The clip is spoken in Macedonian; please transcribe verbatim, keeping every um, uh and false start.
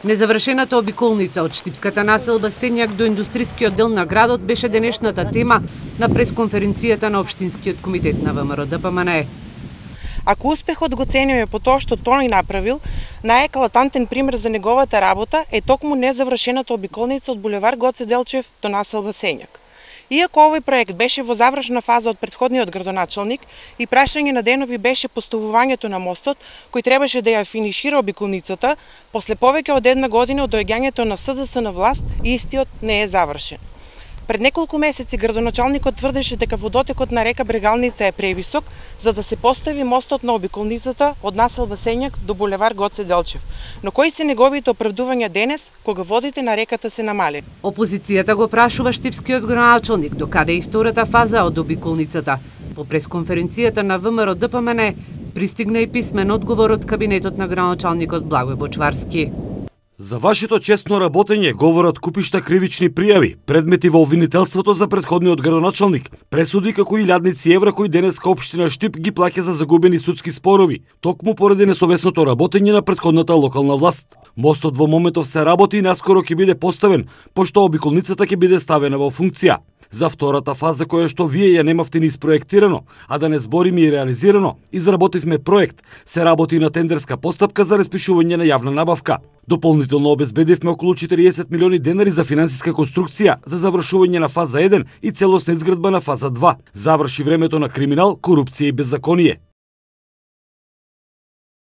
Незавршената обиколница од штипската населба Сењак до индустрискиот дел на градот беше денешната тема на пресконференцијата на Општинскиот комитет на ВМРО Д П М Н Е. Ако успехот го цениме по тоа што тој направил, најеклатантен пример за неговата работа е токму незавршената обиколница од булевар Гоце Делчев до населба Сењак. Иако овој проект беше во завршна фаза од претходниот градоначалник и прашање на денови беше поставувањето на мостот, кој требаше да ја финишира обиколницата, после повеќе од една година од доаѓањето на С Д С на власт, истиот не е завршен. Пред неколку месеци градоначалникот тврдеше дека водотекот на река Брегалница е превисок за да се постави мостот на обиколницата од населба Сењак до булевар Гоце Делчев. Но кои се неговите оправдувања денес кога водите на реката се намали? Опозицијата го прашува штипскиот градоначалник докаде и втората фаза од обиколницата. По пресконференцијата на В М Р Д П М Н Е пристигна и писмен одговор од кабинетот на градоначалникот Благој Бочварски. За вашето честно работење говорат купишта кривични пријави, предмети во обвинителството за претходниот градоначалник, пресуди како илјадници евра кои денеска општина Штип ги плаќа за загубени судски спорови, токму поради несовесното работење на претходната локална власт. Мостот во моментов се работи и наскоро ќе биде поставен, пошто обиколницата ќе биде ставена во функција. За втората фаза која што вие ја немавте ни испроектирано, а да не збориме и реализирано, изработивме проект, се работи на тендерска постапка за распишување на јавна набавка. Дополнително обезбедивме околу четириесет милиони денари за финансиска конструкција за завршување на фаза еден и целосна изградба на фаза два. Заврши времето на криминал, корупција и беззаконие.